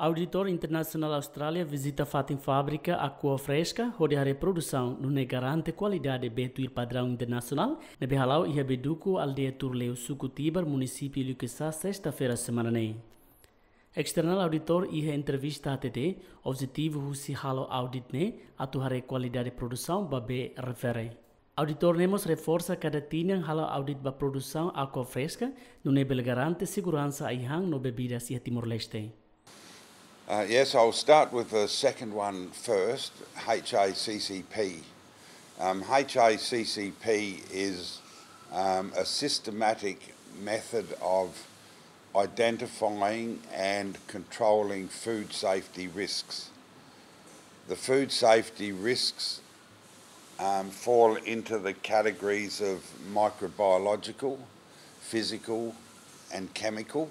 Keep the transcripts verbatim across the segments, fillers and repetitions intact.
Auditór internasionál Austrália vizita fatin fábrika Aqua Fresca, hodi haree produsaun nune'e garante kualidade bee tuir padraun internasionál, ne'ebé hala'o iha Beduku, aldeia Turleu, suku Tibar, munisípiu Liquiçá, sesta-feira semana ne'e. External auditor iha entrevista hatete, objetivu husi halo audit ne'e atu haree kualidade produsaun ba bee refere. Auditor ne'e mós reforsa kada tinan halo audit ba produsaun Aqua Fresca, nune'e bele garante seguransa ai-han no bebidas iha Timor-Leste. Uh, yes, I'll start with the second one first, H A C C P. Um, H A C C P is um, a systematic method of identifying and controlling food safety risks. The food safety risks um, fall into the categories of microbiological, physical, and chemical.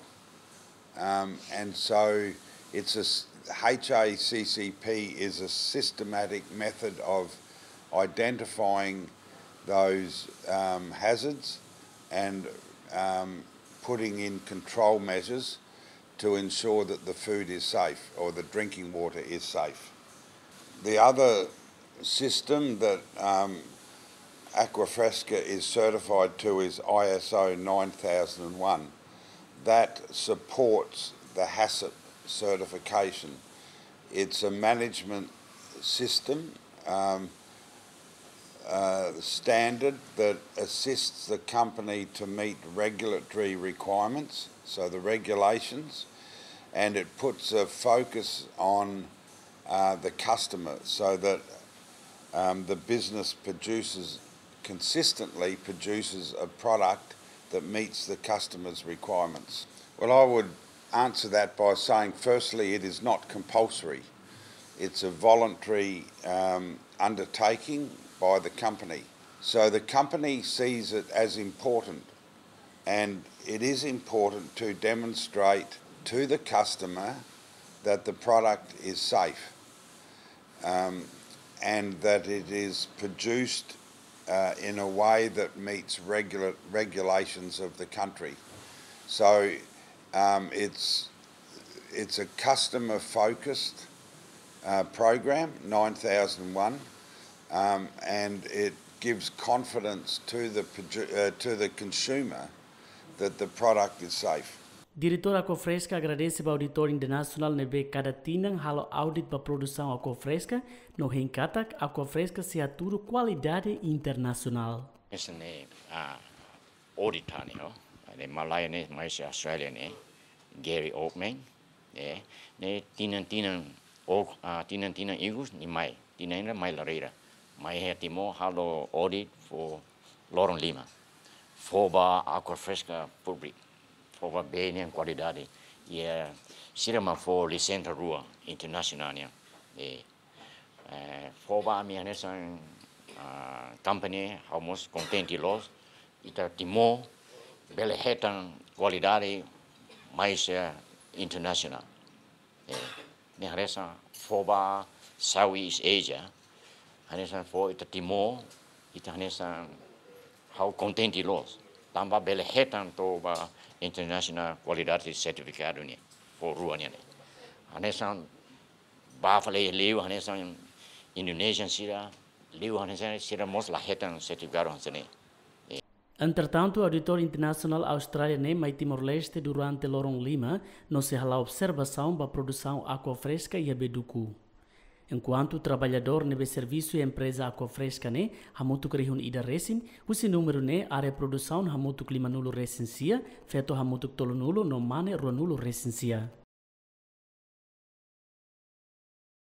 Um, and so it's a, H A C C P is a systematic method of identifying those um, hazards and um, putting in control measures to ensure that the food is safe or the drinking water is safe. The other system that um, Aquafresca is certified to is I S O nine thousand one. That supports the HACCP certification. It's a management system um, uh, standard that assists the company to meet regulatory requirements, so the regulations, and it puts a focus on uh, the customer so that um, the business produces consistently produces a product that meets the customer's requirements. Well, I would answer that by saying, firstly, it is not compulsory. It's a voluntary um, undertaking by the company. So the company sees it as important, and it is important to demonstrate to the customer that the product is safe um, and that it is produced uh, in a way that meets regula- regulations of the country. So um, it's it's a customer focused uh, program, nine thousand one, um, and it gives confidence to the, uh, to the consumer that the product is safe. Diretór Aquafresca agradese ba auditór internasionál ne'ebé kada tinan halo audit ba produsaun Aquafresca, no hein katak Aquafresca sei hatudu kualidade internasionál. Esse ne'e, ah, audit ne'e, oh, ne'e malae ne'e, mai husi Austrália ne'e, Gary Oatman, ne'e, ne'e tinan-tinan, oh, ah, tinan-tinan ikus nia mai, tinan ida mai lareira. Mai iha Timor halo audit fó loron lima. Fó ba Aquafresca públiku. Fó ba bee nian kualidade. Iha sira mak fó lisensa rua internasionál nian. Eh, eh, fó ba ami hanesan, ah, company ha'u mós kontente loos. Ita Timor bele hetan kualidade mais, eh, internasionál. Eh, ne'e hanesan fó ba Southeast Asia, hanesan fó ita Timor, ita hanesan ha'u kontente loos. Tanba bele hetan to'o ba international quality certificado nian, fó rua nian ne'e. Hanesan ba fali liu, hanesan Indonesia sira, liu hanesan sira mós la hetan certificado hanesan ne'e. Entretantu, auditór internasionál Austrália ne'e mai Timor-Leste durante loron lima, no sei hala'o observasaun ba produsaun Aquafresca iha Beduku. Enkuantu traballadór ne'ebé servisu iha empreza Aquafresca ne'e hamutuk rihun ida resin, husi númeru ne'e área produsaun hamutuk limanulu resin sia, feto hamutuk tolunulu no mane ruanulu resin sia.